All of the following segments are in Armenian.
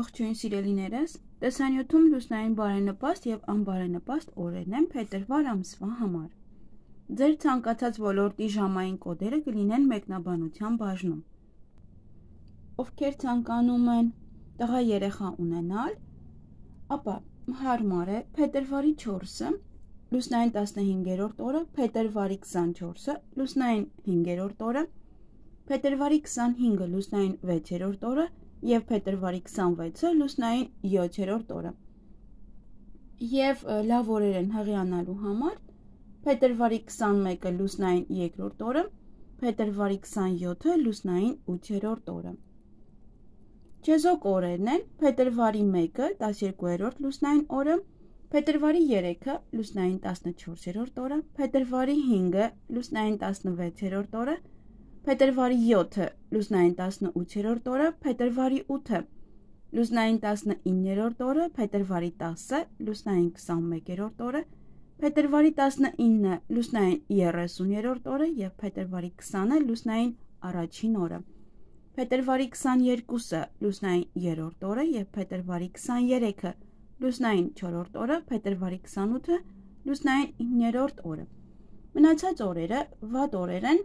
Ողջույն սիրելիներս, տեսանյութում լուսնային բարենպաստ և անբարենպաստ օրերն են փետրվար ամսվա համար։ Ձեր ցանկացած ոլորտի ժամային կոդերը կլինեն մեկնաբանության բաժնում։ Ովքեր ցանկանում են տղա երեխա ունենալ, ապա հարմար է փետրվարի 4-ը, լուսնային 15-րդ օրը, փետրվարի 24-ը, լուսնային 5-րդ օրը, փետրվարի 25-ը, լուսնային 6-րդ օրը և փետրվարի 26-ը լուսնային 7-րդ օրը և լավ օրեր են հղիանալու համար փետրվարի 21-ը լուսնային 2-րդ օրը, փետրվարի 27-ը լուսնային 8-րդ օրը։ Չեզոք օրերն են փետրվարի 1-ը 12-րդ լուսնային օրը, փետրվարի 3-ը լուսնային 14-րդ օրը, փետրվարի 5-ը լուսնային 16-րդ օրը, փետրվարի 7-ը լուսնային 18-րդ օրը, փետրվարի 8-ը լուսնային 19-րդ օրը, փետրվարի 10-ը լուսնային 21-րդ օրը, փետրվարի 19-ը լուսնային 30-րդ օրը և փետրվարի 20-ը լուսնային առաջին օրը, փետրվարի 22-ը լուսնային 3-րդ օրը և փետրվարի 23-ը լուսնային 4-րդ օրը, փետրվարի 28-ը լուսնային 9-րդ օրը։ Մնացած օրերը վատ օրեր են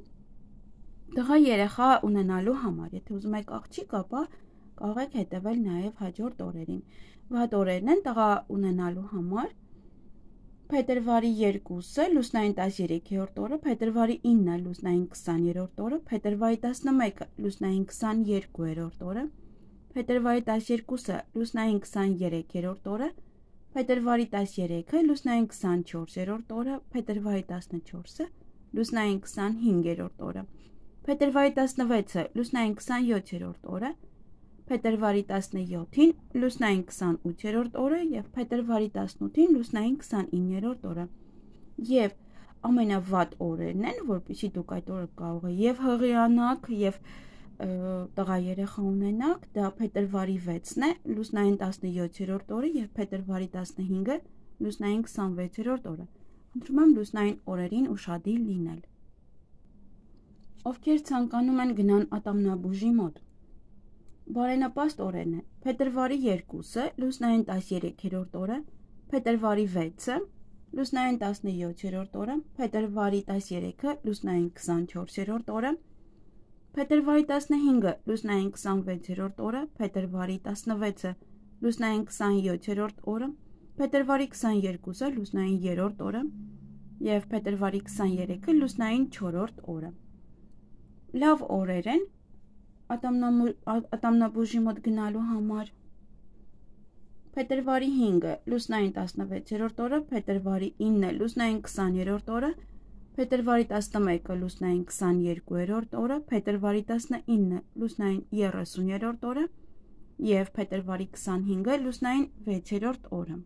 տղա երեխա ունենալու համար, եթե ուզում եք աղջիկ, ապա կարող եք հետևել նաև հաջորդ օրերին։ Վատ օրերն են տղա ունենալու համար փետրվարի 2-ը լուսնային 13-րդ օրը, փետրվարի 9-ը լուսնային 20-րդ օրը, փետրվարի 11-ը լուսնային 22-րդ օրը, փետրվարի 12-ը լուսնային 23-րդ օրը, փետրվարի 13-ը լուսնային 24-րդ օրը, փետրվարի 14-ը լուսնային 25-րդ օրը, փետրվարի 16-ը լուսնային 27-րդ օրը, փետրվարի 17-ին լուսնային 28-րդ օրը և փետրվարի 18-ին լուսնային 29-րդ օրը։ Եվ ամենավատ օրերն են, որպեսզի դուք այդ օրը կարող եք և հղիանաք, և տղա երեխա ունենաք, դա փետրվարի 6-ն է, լուսնային 17-րդ օրը և փետրվարի 15-ը լուսնային 26-րդ օրը։ Խնդրում եմ լուսնային օրերին ուշադիր լինել։ Ովքեր ցանկանում են գնան ատամնաբուժի մոտ, բարենպաստ օրերն են փետրվարի 2-ը լուսնային 13-րդ օրը, փետրվարի 6-ը լուսնային 17-րդ օրը, փետրվարի 13-ը լուսնային 24-րդ օրը, փետրվարի 15-ը լուսնային 26-րդ օրը, փետրվարի 16-ը լուսնային 27-րդ օրը, փետրվարի 22-ը լուսնային 3-րդ օրը և փետրվարի 23-ը լուսնային 4-րդ օրը։ Լավ օրեր են ատամնաբուժի մոտ գնալու համար փետրվարի 5-ը լուսնային 16-րդ օրը, փետրվարի 9-ը լուսնային 20-րդ օրը, փետրվարի 11-ը լուսնային 22-րդ օրը, փետրվարի 19-ը լուսնային 30-րդ օրը և փետրվարի 25-ը լուսնային 6-րդ օրը։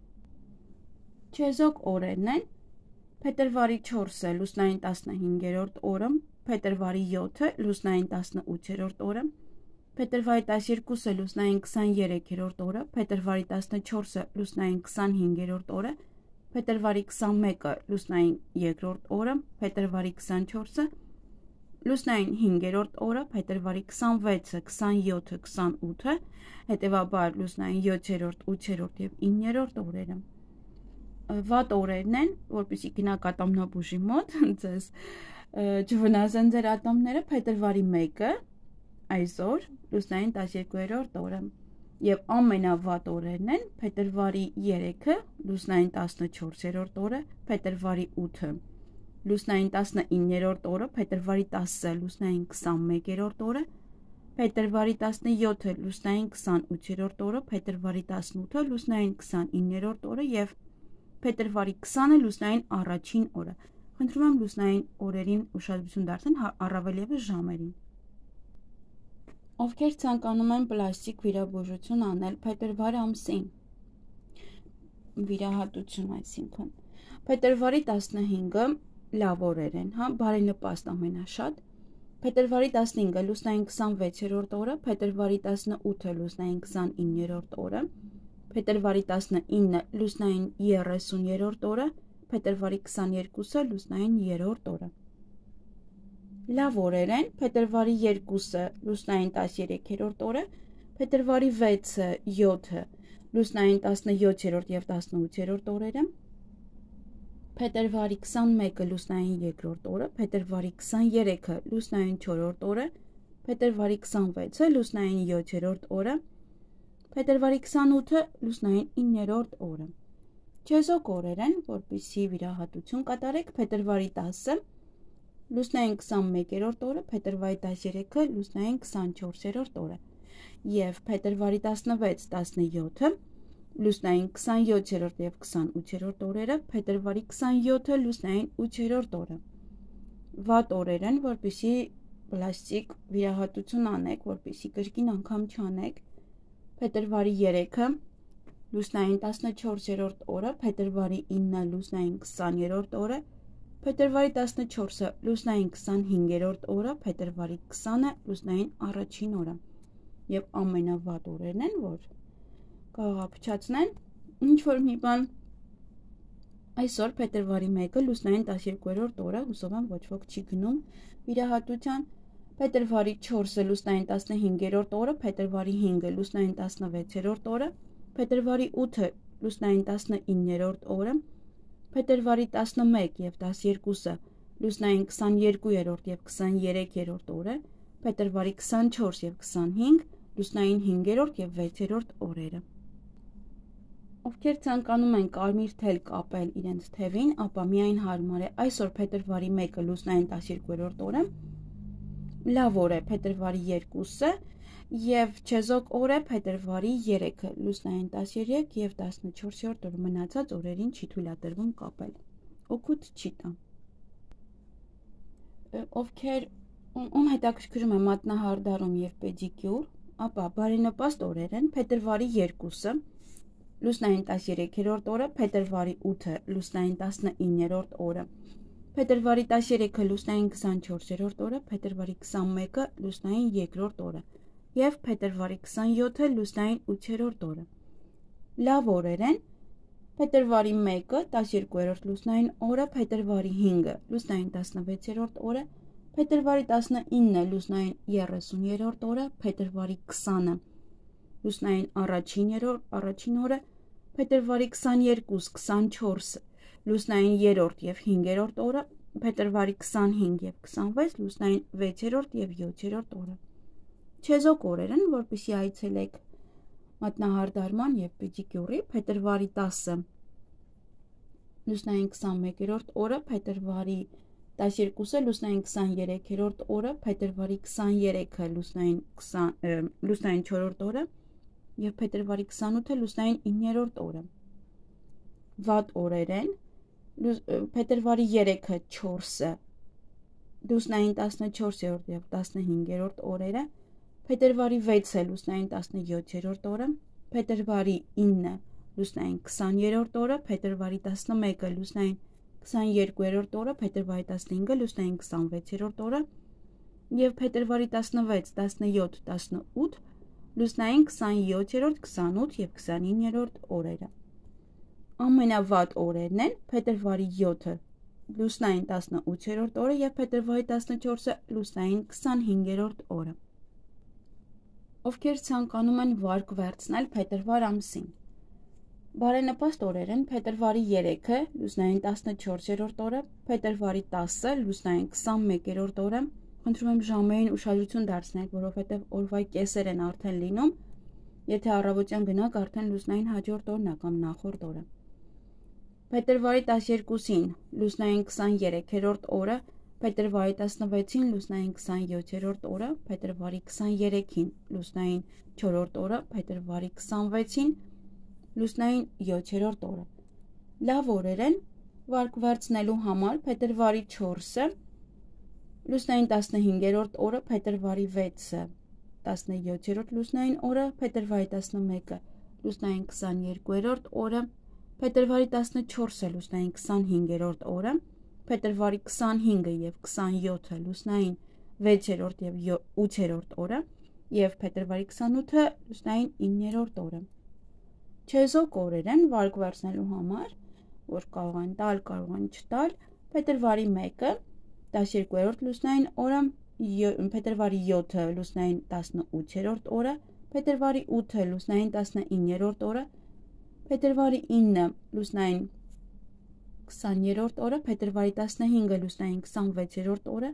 Չեզոք օրերն են փետրվարի 4-ը լուսնային 15-րդ օրը, փետրվարի 7-ը լուսնային 18-րդ օրը, փետրվարի 12-ը լուսնային 23-րդ օրը, փետրվարի 14-ը լուսնային 25-րդ օրը, փետրվարի 21-ը լուսնային 2-րդ օրը, փետրվարի 24-ը լուսնային 5-րդ օրը, փետրվարի 26-ը, 27-ը, 28-ը, հետևաբար լուսնային 7-րդ, 8-րդ և 9-րդ օրերը։ Վատ օրերն են, որպեսզի գնաք ատամնաբուժի մոտ, ձեզ չվնասեն ձեր ատամները, փետրվարի 1-ը այսօր լուսնային 12-րդ օրը և ամենավատ օրերն են փետրվարի 3-ը լուսնային 14-րդ օրը, փետրվարի 8-ը լուսնային 19-րդ օրը, փետրվարի 10-ը լուսնային 21-րդ օրը, փետրվարի 17-ը լուսնային 28-րդ օրը, փետրվարի 18-ը լուսնային 29-րդ օրը և փետրվարի 20-ը լուսնային առաջին օրը։ Խնդրում եմ լուսնային օրերին ուշադրություն դարձնել, առավել ևս ժամերին։ Ովքեր ցանկանում են պլաստիկ վիրաբուժություն անել փետրվար ամսին, վիրահատություն այսինքն, փետրվարի 15-ը լավ օրեր են, բարենպաստ ամենաշատ, փետրվարի 15-ը լուսնային 26-րդ օրը, փետրվարի 18-ը լուսնային 29-րդ օրը, փետրվարի 19-ը լուսնային 30-րդ օրը, փետրվարի 22-ը լուսնային 3-րդ օրը։ Լավ օրեր են փետրվարի 2-ը լուսնային 13-րդ օրը, փետրվարի 6-ը, 7-ը, լուսնային 17-րդ և 18-րդ օրերը, փետրվարի 21-ը, լուսնային 2-րդ օրը, փետրվարի 23-ը, լուսնային 4-րդ օրը, փետրվարի 26-ը, լուսնային 7-րդ օրը, փետրվարի 28-ը, լուսնային 9-րդ օրը։ Չեզոք օրեր են, որպեսզի վիրահատություն կատարեք, փետրվարի 10-ը, լուսնային 21-րդ օրը, փետրվարի 13-ը, լուսնային 24-րդ օրը և փետրվարի 16, 17-ը, լուսնային 27-րդ և 28-րդ օրերը, փետրվարի 27-ը, լուսնային 8-րդ օրը։ Վատ օրեր են, որպեսզի պլաստիկ վիրահատություն անեք, որպեսզի կրկին անգամ չանեք, փետրվարի 3-ը, լուսնային 14-րդ օրը, փետրվարի 9-ը, լուսնային 20-րդ օրը, փետրվարի 14-ը, լուսնային 25-րդ օրը, փետրվարի 20-ը, լուսնային առաջին օրը և ամենավատ օրերն են, որ կարող ապչացնեն ինչ-որ մի բան։ Այսօր փետրվարի 1-ը, լուսնային 12-րդ օրը, հուսով եմ ոչ ոք չի գնում վիրահատության, փետրվարի 4-ը, լուսնային 15-րդ օրը, փետրվարի 5-ը, լուսնային 16-րդ օրը, փետրվարի 8-ը, լուսնային 19-րդ օրը, փետրվարի 11 և 12-ը, լուսնային 22-րդ և 23-րդ օրը, փետրվարի 24 և 25, լուսնային 5-րդ և 6-րդ օրերը։ Ովքեր ցանկանում են կարմիր թել կապել իրենց թևին, ապա միայն հարմար է այսօր փետրվարի 1-ը, լուսնային 12-րդ օրը, լավ օր է փետրվարի 2-ը և չեզոք օր է փետրվարի 3-ը, լուսնային 13 և 14-րդ օրը, մնացած օրերին չի թույլատրվում կապել, օգուտ չի տա։ Ովքեր ում հետաքրքրում է մատնահարդարում և պեդիկյուր, ապա բարենպաստ օրեր են փետրվարի 2-ը, լուսնային 13-րդ օրը, փետրվարի 8-ը, լուսնային 19-րդ օրը, փետրվարի 13-ը, լուսնային 24-րդ օրը, փետրվարի 21-ը, լուսնային 2-րդ օրը և փետրվարի 27-ը, լուսնային 8-րդ օրը։ Լավ օրեր են փետրվարի 1-ը, 12-րդ լուսնային օրը, փետրվարի 5-ը, լուսնային 16-րդ օրը, փետրվարի 19-ը, լուսնային 30-րդ օրը, փետրվարի 20-ը, լուսնային առաջին օրը, փետրվարի 22, 24, լուսնային 3-րդ և 5-րդ օրը, փետրվարի 25 և 26, լուսնային 6-րդ և 7-րդ օրը։ Չեզոք օրեր են, որպեսզի այցելեք մատնահարդարման և պեդիկյուրի, փետրվարի 10-ը, լուսնային 21-րդ օրը, փետրվարի 12-ը, լուսնային 23-րդ օրը, փետրվարի 23-ը, լուսնային 4-րդ օրը և փետրվարի 28-ը, լուսնային 9-րդ օրը։ Վատ օրեր են փետրվարի 3-ը, 4-ը, լուսնային 14-րդ և 15-րդ օրերը, փետրվարի 6-ը, լուսնային 17-րդ օրը, փետրվարի 9-ը, լուսնային 20-րդ օրը, փետրվարի 11-ը, լուսնային 22-րդ օրը, փետրվարի 15-ը, լուսնային 26-րդ օրը և փետրվարի 16, 17, 18, լուսնային 27-րդ, 28 և 29-րդ օրերը։ Ամենավատ օրերն են փետրվարի 7-ը, լուսնային 18-րդ օրը և փետրվարի 14-ը, լուսնային 25-րդ օրը։ Ովքեր ցանկանում են վարկ վերցնել փետրվար ամսին, բարենպաստ օրեր են փետրվարի 3-ը, լուսնային 14-րդ օրը, փետրվարի 10-ը, լուսնային 21-րդ օրը, խնդրում եմ ժամերին ուշադրություն դարձնեք, որովհետև օրվա կեսեր են արդեն լինում, եթե առավոտյան գնաք, արդեն լուսնային հաջորդ օրն է կամ նախորդ օրը։ Փետրվարի 12-ին, լուսնային 23-րդ օրը, փետրվարի 16-ին, լուսնային 27-րդ օրը, փետրվարի 23-ին, լուսնային 4-րդ օրը, փետրվարի 26-ին, լուսնային 7-րդ օրը։ Լավ օրեր են վարկ վերցնելու համար փետրվարի 4-ը, լուսնային 15-րդ օրը, փետրվարի 6-ը, 17-րդ լուսնային օրը, փետրվարի 11-ը, լուսնային 22-րդ օրը, փետրվարի 14-ը, լուսնային 25-րդ օրը, փետրվարի 25-ը և 27-ը, լուսնային 6-րդ և 8-րդ օրը և փետրվարի 28-ը, լուսնային 9-րդ օրը։ Չեզոք օրեր են վարկ վերցնելու համար, որ կարող են տալ, կարող են չտալ, փետրվարի 1-ը, 12-րդ լուսնային օրը, փետրվարի 7-ը, լուսնային 18-րդ օրը, փետրվարի 8-ը լուսնային 19-րդ օրը, փետրվարի 9-ը լուսնային 20-րդ օրը, փետրվարի 15-ը լուսնային 26-րդ օրը,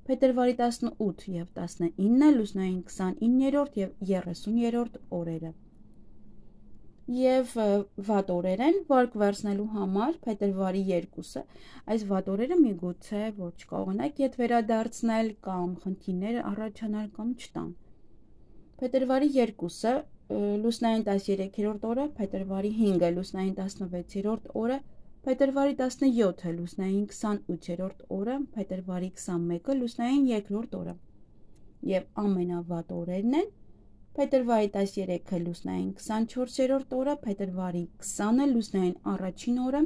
փետրվարի 18 և 19-ը լուսնային 29-րդ և 30-րդ օրերը։ Եվ վատ օրեր են վարկ վերցնելու համար փետրվարի 2-ը, այս վատ օրերը միգուցե որ չկարողանաք ետ վերադարձնել կամ խնդիրներ առաջանալ կամ չտան։ Փետրվարի 2-ը լուսնային 13-րդ օրը, փետրվարի 5-ը լուսնային 16-րդ օրը, փետրվարի 17-ը լուսնային 28-րդ օրը, փետրվարի 21-ը լուսնային 2-րդ օրը։ Եվ ամենավատ օրերն են փետրվարի 13-ը լուսնային 24-րդ օրը, փետրվարի 20-ը լուսնային առաջին օրը,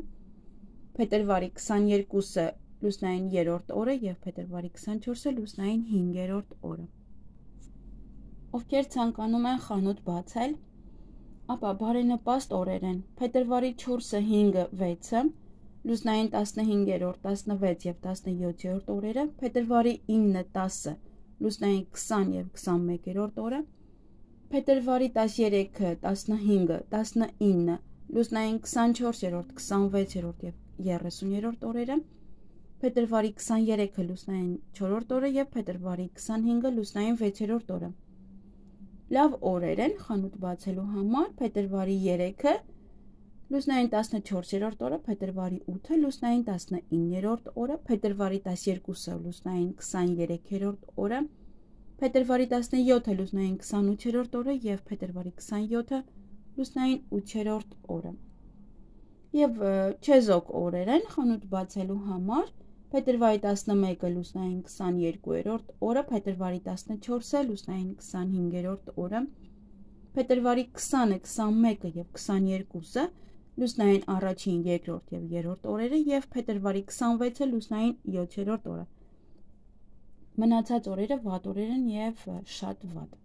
փետրվարի 22-ը լուսնային 3-րդ օրը և փետրվարի 24-ը լուսնային 5-րդ օրը։ Ովքեր ցանկանում են խանութ բացել, ապա բարենպաստ օրեր են փետրվարի 4-ը, 5-ը, 6-ը, լուսնային 15-րդ, 16 և 17-րդ օրերը, փետրվարի 9-ը, 10-ը, լուսնային 20 և 21-րդ օրը, փետրվարի 13-ը, 15-ը, 19-ը, լուսնային 24-րդ, 26-րդ և 30-րդ օրերը, փետրվարի 23-ը լուսնային 4-րդ օրը և փետրվարի 25-ը լուսնային 6-րդ օրը։ Լավ օրեր են խանութ բացելու համար փետրվարի 3-ը լուսնային 14-րդ օրը, փետրվարի 8-ը լուսնային 19-րդ օրը, փետրվարի 12-ը լուսնային 23-րդ օրը, փետրվարի 17-ը լուսնային 28-րդ օրը և փետրվարի 27-ը լուսնային 8-րդ օրը։ Եվ չեզոք օրեր են խանութ բացելու համար փետրվարի 11-ը լուսնային 22-րդ օրը, փետրվարի 14-ը լուսնային 25-րդ օրը, փետրվարի 20-ը, 21-ը և 22-ը լուսնային առաջին, երկրորդ և երրորդ օրերը և փետրվարի 26-ը լուսնային 7-րդ օրը։ Մնացած օրերը վատ օրեր են և շատ վատ։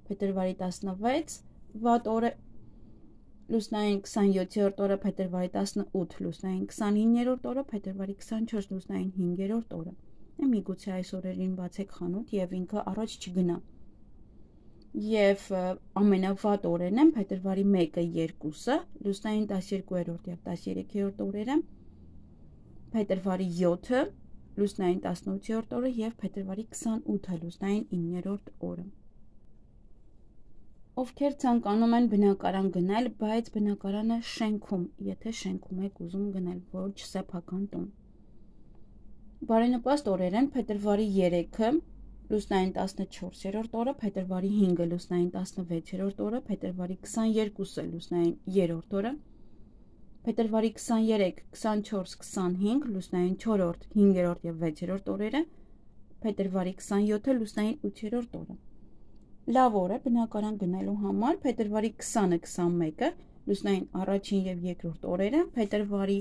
Փետրվարի 16 վատ օրը լուսնային 27-րդ օրը, փետրվարի 18 լուսնային 29-րդ օրը, փետրվարի 24 լուսնային 5-րդ օրը։ Միգուցե այս օրերին բացեք խանութ և ինքը առաջ չգնա։ Եվ ամենավատ օրերն են փետրվարի 1-ը, 2-ը, լուսնային 12-րդ և 13-րդ օրերը, փետրվարի 7-ը, լուսնային 18-րդ օրը և փետրվարի 28-ը լուսնային 9-րդ օրը։ Ովքեր ցանկանում են բնակարան գնել, բայց բնակարանը շենքում, եթե շենքում եք ուզում գնել, ոչ սեփական տուն։ Բարենպաստ օրեր են փետրվարի 3-ը, լուսնային 14-րդ օրը, փետրվարի 5-ը լուսնային 16-րդ օրը, փետրվարի 22-ը լուսնային 3-րդ օրը, փետրվարի 23, 24, 25 լուսնային 4-րդ, 5-րդ և 6-րդ օրերը, փետրվարի 27-ը լուսնային 8-րդ օրը։ Լավ օր է բնակարան գնելու համար փետրվարի 20-ը, 21-ը լուսնային առաջին և երկրորդ օրերը, փետրվարի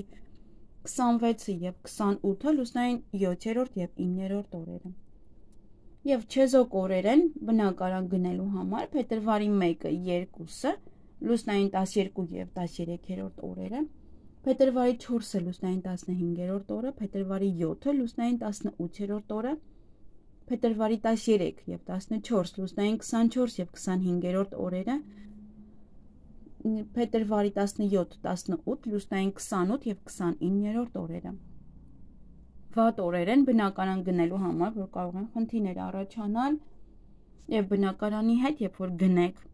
26-ը և 28-ը լուսնային 7-րդ և 9-րդ օրերը։ Եվ չեզոք օրեր են բնակարան գնելու համար փետրվարի 1-ը, 2-ը լուսնային 12 և 13-րդ օրերը, փետրվարի 4-ը լուսնային 15-րդ օրը, փետրվարի 7-ը լուսնային 18-րդ օրը, փետրվարի 13 և 14 լուսնային 24 և 25-րդ օրերը, փետրվարի 17, 18 լուսնային 28 և 29-րդ օրերը։ Վատ օրեր են բնակարան գնելու համար, որ կարող են խնդիրներ առաջանալ և բնակարանի հետ, երբ որ գնեք,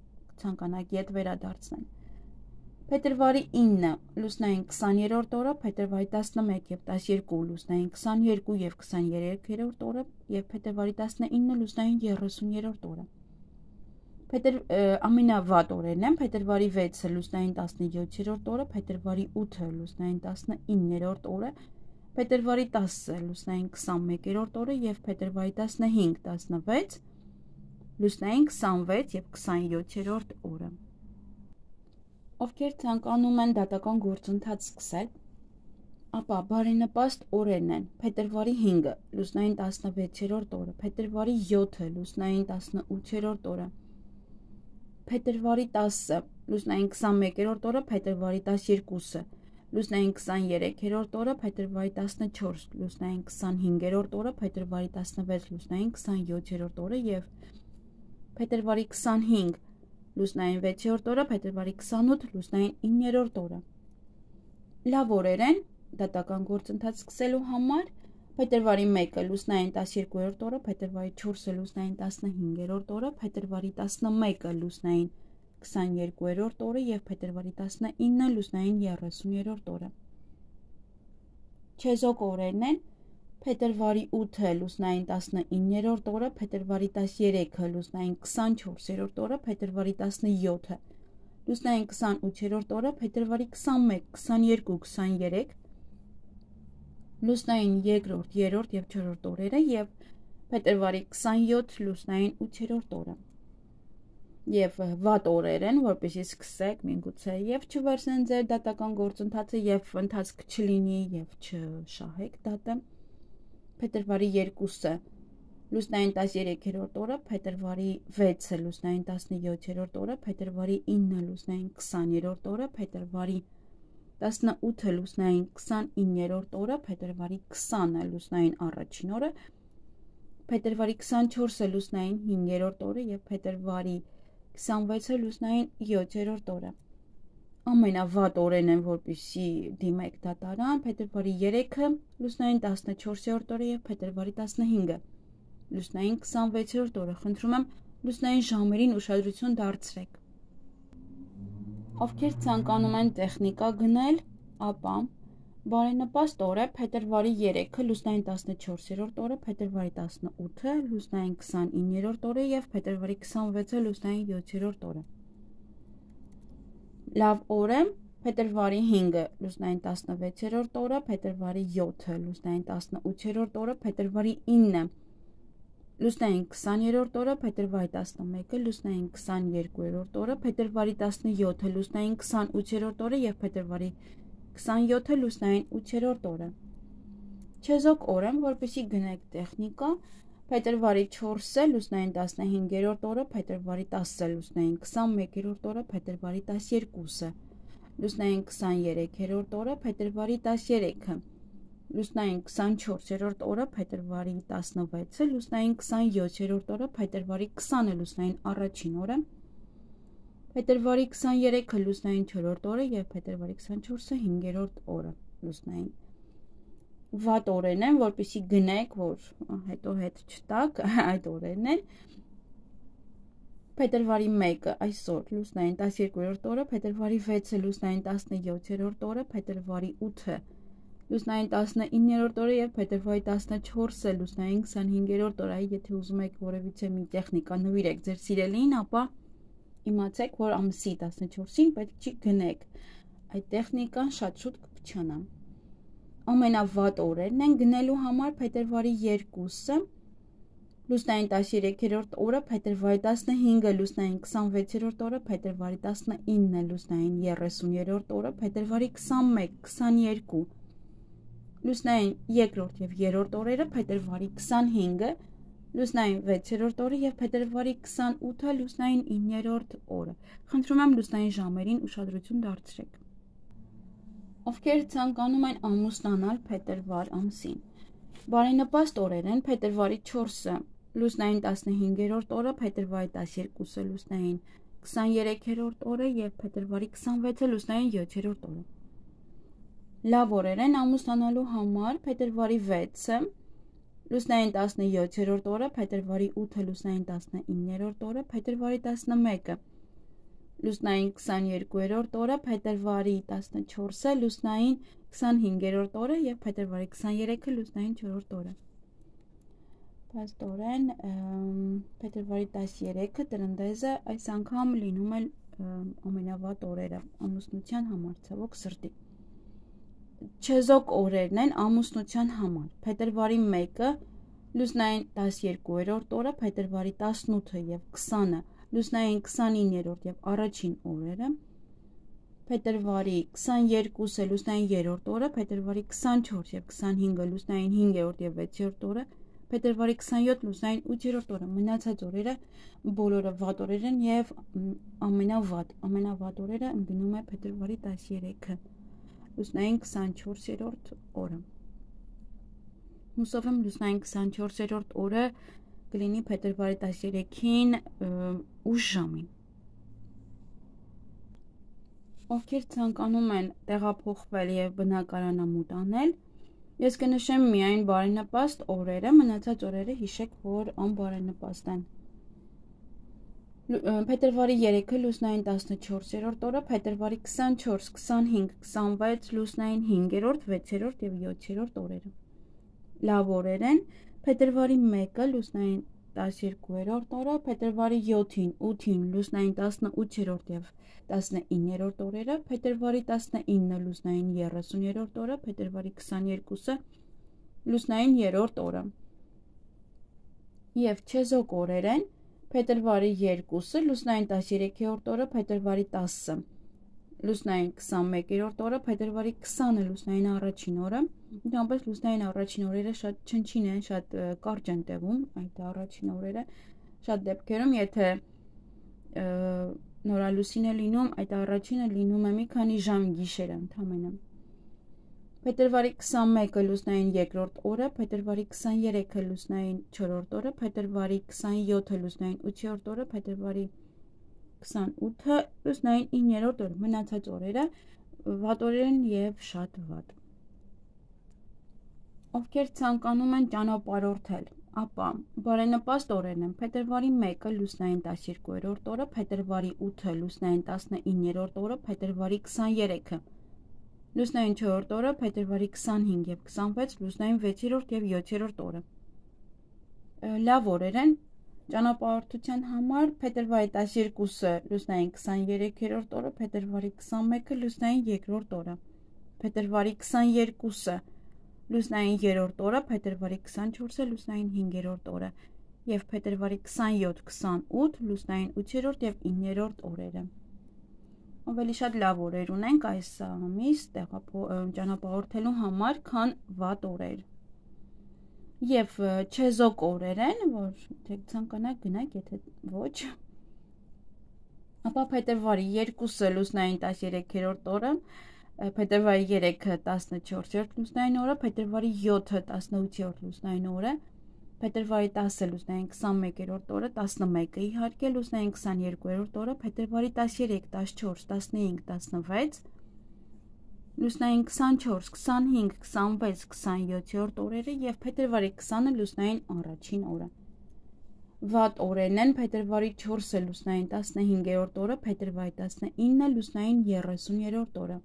ցանկանաք ետ վերադարձնել։ Փետրվարի 9-ը լուսնային 20-րդ օրը, փետրվարի 11 և 12 լուսնային 22 և 23-րդ օրը և փետրվարի 19-ը լուսնային 30-րդ օրը։ Ամենավատ օրերն են փետրվարի 6-ը լուսնային 17-րդ օրը, փետրվարի 8-ը լուսնային 19-րդ օրը, փետրվարի 10-ը լուսնային 21-րդ օրը և փետրվարի 15, 16 լուսնային 26 և 27-րդ օրը։ Ովքեր ցանկանում են դատական գործընթաց սկսել, ապա բարենպաստ օրերն են փետրվարի 5-ը լուսնային 16-րդ օրը, փետրվարի 7-ը լուսնային 18-րդ օրը, փետրվարի 10-ը լուսնային 21-րդ օրը, փետրվարի 12-ը լուսնային 23-րդ օրը, փետրվարի 14 լուսնային 25-րդ օրը, փետրվարի 16 լուսնային 27-րդ օրը և փետրվարի 25 լուսնային 6-րդ օրը, փետրվարի 28, լուսնային 9-րդ օրը։ Լավ օրեր են դատական գործընթաց սկսելու համար, փետրվարի 1-ը լուսնային 12-րդ օրը, փետրվարի 4-ը լուսնային 15-րդ օրը, փետրվարի 11-ը լուսնային 22-րդ օրը և փետրվարի 19-ը լուսնային 30-րդ օրը։ Չեզոք օրերն են փետրվարի 8-ը լուսնային 19-րդ օրը, փետրվարի 13-ը լուսնային 24-րդ օրը, փետրվարի 17-ը լուսնային 28-րդ օրը, փետրվարի 21, 22, 23 լուսնային 2-րդ, 3-րդ և 4-րդ օրերը և փետրվարի 27 լուսնային 8-րդ օրը։ Եվ վատ օրեր են, որպեսզի սկսեք միգուցե եւ չվերցնեն ձեր դատական գործընթացը եւ ընթացք չլինի եւ չշահեք դատը։ Փետրվարի 2-ը լուսնային 13-րդ օրը, փետրվարի 6-ը լուսնային 17-րդ օրը, փետրվարի 9-ը լուսնային 20-րդ օրը, փետրվարի 18-ը լուսնային 29-րդ օրը, փետրվարի 20-ը լուսնային առաջին օրը, փետրվարի 24-ը լուսնային 5-րդ օրը եւ փետրվարի 26-ը լուսնային 7-րդ օրը։ Ամենավատ օրերն են, որպեսզի դիմեք դատարան, փետրվարի 3-ը լուսնային 14-րդ օրը եւ փետրվարի 15-ը լուսնային 26-րդ օրը։ Խնդրում եմ լուսնային ժամերին ուշադրություն դարձրեք։ Ովքեր ցանկանում են տեխնիկա գնել, ապա բարենպաստ օր է փետրվարի 3-ը լուսնային 14-րդ օրը, փետրվարի 18-ը լուսնային 29-րդ օրը եւ փետրվարի 26-ը լուսնային 7-րդ օրը։ Լավ օր է փետրվարի 5-ը լուսնային 16-րդ օրը, փետրվարի 7-ը լուսնային 18-րդ օրը, փետրվարի 9-ը լուսնային 20-րդ օրը, փետրվարի 11-ը լուսնային 22-րդ օրը, փետրվարի 17-ը լուսնային 28-րդ օրը եւ փետրվարի 27-ը լուսնային 8-րդ օրը։ Չեզոք օր եմ, որպեսզի գնեք տեխնիկա, փետրվարի 4-ը լուսնային 15-րդ օրը, փետրվարի 10-ը լուսնային 21-րդ օրը, փետրվարի 12-ը լուսնային 23-րդ օրը, փետրվարի 13-ը լուսնային 24-րդ օրը, փետրվարի 16-ը լուսնային 27-րդ օրը, փետրվարի 20-ը լուսնային առաջին օրը, փետրվարի 23-ը լուսնային 4-րդ օրը եւ փետրվարի 24-ը 5-րդ օրը լուսնային։ Վատ օրերն են, որպեսզի գնեք, որ հետո հետ չտակ, այդ օրերն են։ Փետրվարի 1-ը այսօր լուսնային 12-րդ օրը, փետրվարի 6-ը լուսնային 17-րդ օրը, փետրվարի 8-ը լուսնային 19-րդ օրը եւ փետրվարի 14-ը լուսնային 25-րդ օրը։ Եթե ուզում եք որևիցե մի տեխնիկա նվիրեք ձեր սիրելին, ապա իմացեք, որ ամսի 14-ին պետք չի գնեք։ Այդ տեխնիկան շատ շուտ կփչանա։ Ամենավատ օրերն են գնելու համար փետրվարի 2-ը լուսնային 13-րդ օրը, փետրվարի 15-ը լուսնային 26-րդ օրը, փետրվարի 19-ը լուսնային 30-րդ օրը, փետրվարի 21, 22 լուսնային 2-րդ եւ 3-րդ օրերը, փետրվարի 25-ը լուսնային 6-րդ օրը եւ փետրվարի 28-ը լուսնային 9-րդ օրը։ Խնդրում եմ լուսնային ժամերին ուշադրություն դարձրեք։ Ովքեր ցանկանում են ամուսնանալ փետրվար ամսին, բարենպաստ օրեր են փետրվարի 4-ը լուսնային 15-րդ օրը, փետրվարի 12-ը լուսնային 23-րդ օրը եւ փետրվարի 26-ը լուսնային 7-րդ օրը։ Լավ օրեր են ամուսնանալու համար փետրվարի 6-ը լուսնային 17-րդ օրը, փետրվարի 8-ը լուսնային 19-րդ օրը, փետրվարի 11-ը լուսնային 22-րդ օրը, փետրվարի 14-ը լուսնային 25-րդ օրը եւ փետրվարի 23-ը լուսնային 4-րդ օրը։ Պաստորեն փետրվարի 13-ը տրնդեզը այս անգամ լինում է ամենավատ օրերը ամուսնության համար, ցավոք սրտի։ Չեզոք օրերն են ամուսնության համար։ Փետրվարի 1-ը լուսնային 12-րդ օրը, փետրվարի 18-ը եւ 20-ը լուսնային 29-րդ եւ առաջին օրերը, փետրվարի 22-ը լուսնային 3-րդ օրը, փետրվարի 24 եւ 25-ը լուսնային 5-րդ եւ 6-րդ օրը, փետրվարի 27 լուսնային 8-րդ օրը։ Մնացած օրերը բոլորը վատ օրեր են եւ ամենավատ օրերը ընկնում է փետրվարի 13-ը լուսնային 24-րդ օրը։ Հուսով եմ լուսնային 24-րդ օրը կլինի փետրվարի 13-ին ուշ ժամին։ ովքեր ցանկանում են տեղափոխվել եւ բնակարանամուտ անել, ես կնշեմ միայն բարենպաստ օրերը, մնացած օրերը հիշեք, որ անբարենպաստ են։ Փետրվարի 3-ը լուսնային 14-րդ օրը, փետրվարի 24, 25, 26 լուսնային 5-րդ, 6-րդ եւ 7-րդ օրերը։ Լավ օրեր են։ Փետրվարի 1-ը լուսնային 12-րդ օրը, փետրվարի 7-ին, 8-ին լուսնային 18-րդ եւ 19-րդ օրերը, փետրվարի 19-ը լուսնային 30-րդ օրը, փետրվարի 22-ը լուսնային 3-րդ օրը։ Եվ չեզոք օրեր են։ Փետրվարի 2-ը լուսնային 13-րդ օրը, փետրվարի 10-ը լուսնային 21-րդ օրը, փետրվարի 20-ը լուսնային առաջին օրը։ Ընդհանրապես լուսնային առաջին օրերը շատ չնչին են, շատ կարճ են տևում, այդ առաջին օրերը շատ դեպքերում, եթե նորալուսին է լինում, այդ առաջինը լինում է մի քանի ժամ գիշերը ընդամենը։ Փետրվարի 21-ը լուսնային 2-րդ օրը, փետրվարի 23-ը լուսնային 4-րդ օրը, փետրվարի 27-ը լուսնային 8-րդ օրը, փետրվարի 28-ը լուսնային 9-րդ օրը։ Մնացած օրերը վատ օրեր են եւ շատ վատ։ Ովքեր ցանկանում են ճանապարհորդել, ապա բարենպաստ օրերն են։ Փետրվարի 1-ը լուսնային 12-րդ օրը, փետրվարի 8-ը լուսնային 19-րդ օրը, փետրվարի 23-ը լուսնային 4-րդ օրը, փետրվարի 25 եւ 26 լուսնային 6-րդ եւ 7-րդ օրը։ Լավ օրեր են ճանապարհորդության համար։ Փետրվարի 12-ը լուսնային 23-րդ օրը, փետրվարի 21-ը լուսնային 2-րդ օրը, փետրվարի 22-ը լուսնային 3-րդ օրը, փետրվարի 24-ը լուսնային 5-րդ օրը եւ փետրվարի 27-28 լուսնային 8-րդ եւ 9-րդ օրերը։ Ավելի շատ լավ օրեր ունենք այս ամիս ճանապարհորդելու համար, քան վատ օրեր։ Եվ չեզոք օրեր են, որ թե ցանկանաք գնաք, եթե ոչ։ Ապա փետրվարի 2-ը լուսնային 13-րդ օրը, փետրվարի 3-ը 14-րդ լուսնային օրը, փետրվարի 7-ը 18-րդ լուսնային օրը, փետրվարի 10-ը լուսնային 21-րդ օրը, 11-ը իհարկե լուսնային 22-րդ օրը, փետրվարի 13, 14, 15, 16 լուսնային 24, 25, 26, 27-րդ օրերը եւ փետրվարի 20-ը լուսնային առաջին օրը։ Վատ օրերն են փետրվարի 4-ը լուսնային 15-րդ օրը, փետրվարի 19-ը լուսնային 30-րդ օրը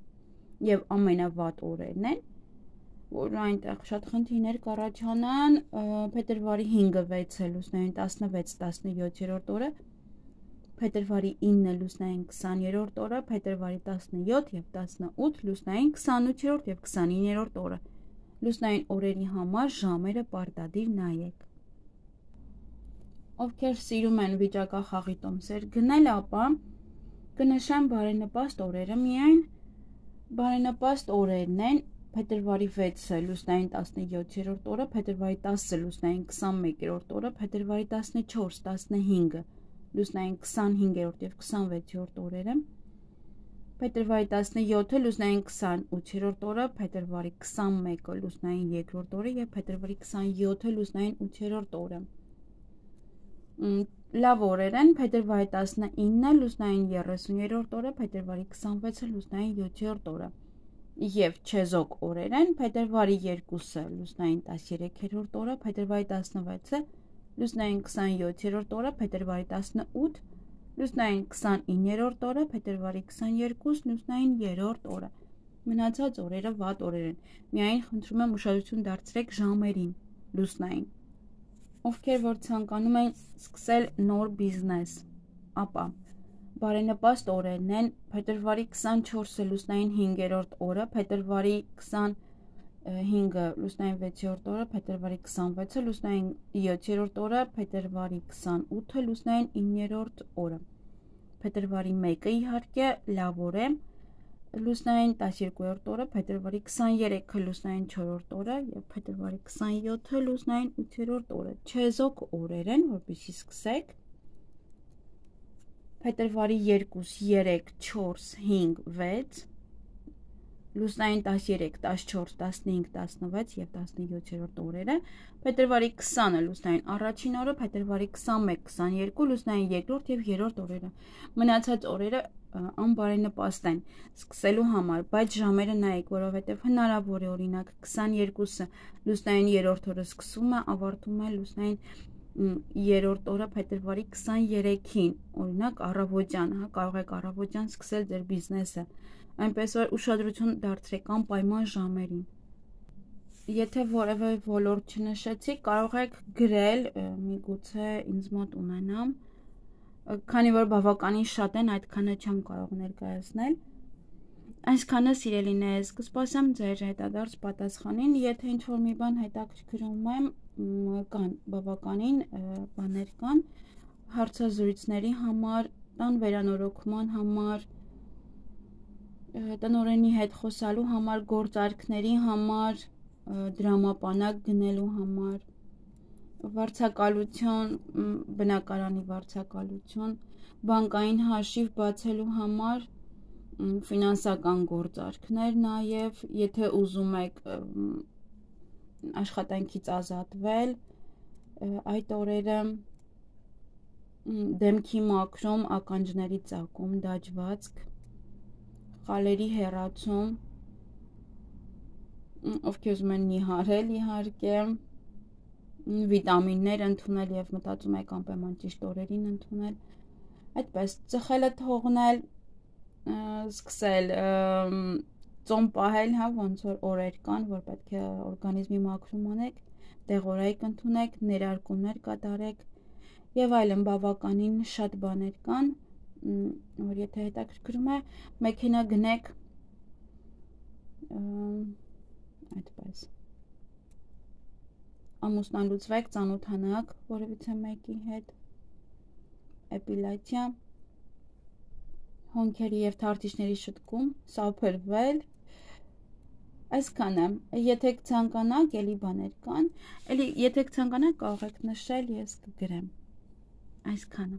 եւ ամենավատ օրերն են, որ այնտեղ շատ խնդիրներ կառաջանան, փետրվարի 5-ը 6-ը լուսնային 16-17-րդ օրը, փետրվարի 9-ը լուսնային 20-րդ օրը, փետրվարի 17 եւ 18 լուսնային 28-րդ եւ 29-րդ օրը։ Լուսնային օրերի համար ժամերը պարտադիր նայեք։ Ովքեր սիրում են վիճակախաղի տոմսեր գնել, ապա կնշեմ բարենպաստ օրերը միայն։ Բարենպաստ օրերն են փետրվարի 6-ը լուսնային 17-րդ օրը, փետրվարի 10-ը լուսնային 21-րդ օրը, փետրվարի 14, 15-ը լուսնային 25-րդ եւ 26-րդ օրերը, փետրվարի 17-ը լուսնային 28-րդ օրը, փետրվարի 21-ը լուսնային 2-րդ օրը եւ փետրվարի 27-ը լուսնային 8-րդ օրը։ Լավ օրեր են փետրվարի 19-ը լուսնային 30-րդ օրը, փետրվարի 26-ը լուսնային 7-րդ օրը։ Եվ չեզոք օրեր են փետրվարի 2-ը լուսնային 13-րդ օրը, փետրվարի 16-ը լուսնային 27-րդ օրը, փետրվարի 18 լուսնային 29-րդ օրը, փետրվարի 22 լուսնային 3-րդ օրը։ Մնացած օրերը վատ օրեր են։ Միայն խնդրում եմ ուշադրություն դարձրեք ժամերին լուսնային։ Ովքեր որ ցանկանում են սկսել նոր բիզնես, ապա բարենպաստ օրերն են փետրվարի 24-ը լուսնային 5-րդ օրը, փետրվարի 25-ը լուսնային 6-րդ օրը, փետրվարի 26-ը լուսնային 7-րդ օրը, փետրվարի 28-ը լուսնային 9-րդ օրը, փետրվարի 1-ը իհարկե լավ օր է, լուսնային 12-րդ օրը, փետրվարի 23-ը լուսնային 4-րդ օրը եւ փետրվարի 27-ը լուսնային 8-րդ օրը։ Չեզոք օրեր են, որպեսզի սկսեք։ Փետրվարի 2, 3, 4, 5, 6 լուսնային 13, 14, 15, 16 եւ 17-րդ օրերը, փետրվարի 20-ը լուսնային առաջին օրը, փետրվարի 21, 22 լուսնային 2-րդ եւ 3-րդ օրերը։ Մնացած օրերը անբարենպաստ են սկսելու համար, բայց ժամերը նայեք, որովհետև հնարավոր է օրինակ 22-ը լուսնային 3-րդ օրը սկսում է, ավարտում է լուսնային 3-րդ օրը փետրվարի 23-ին, օրինակ առավոտյան, կարող եք առավոտյան սկսել ձեր բիզնեսը, այնպես որ ուշադրություն դարձրեք անպայման ժամերին։ Եթե որևէ ոլորտ չնշեցի, կարող եք գրել, միգուցե ինձ մոտ ունենամ, քանի որ բավականին շատ են, այդքանը չեմ կարող ներկայացնել։ Այսքանը սիրելիներս, կսպասեմ ձեր հետադարձ պատասխանին, եթե ինչ-որ մի բան հետաքրքրում եմ, կան բավականին բաներ կան, հարցազրույցների համար, տան վերանորոգման համար, տնօրենի հետ խոսալու համար, գործարքների համար, դրամապանակ գնելու համար, վարձակալություն, բնակարանի վարձակալություն, բանկային հաշիվ բացելու համար, ֆինանսական գործարքներ նաև, եթե ուզում եք աշխատանքից ազատվել, այդ օրերը դեմքի մաքրում, ականջների ծակում, դաջվածք, խալերի հեռացում, ովքեր ուզում են նիհարել իհարկե, վիտամիններ ընդունել և մտածում եք անպայման ճիշտ օրերին ընդունել, այդպես ծխելը թողնել, սկսել ծոմ պահել, ոնց որ օրեր կան, որ պետք է օրգանիզմի մաքրում անեք, դեղորայք ընդունեք, ներարկումներ կատարեք և այլն բավականին շատ բաներ կան, որ եթե հետաքրքրում է, մեքենա գնեք, այդպես ամուսնալուծվեք, ծանոթանաք որևիցե մեկի հետ, էպիլյացիա, հոնքերի և թարթիչների շտկում, սափրվել, այսքանը, եթե ցանկանաք, էլի բաներ կան, էլի եթե ցանկանաք կարող եք նշել, ես կգրեմ, այսքանը։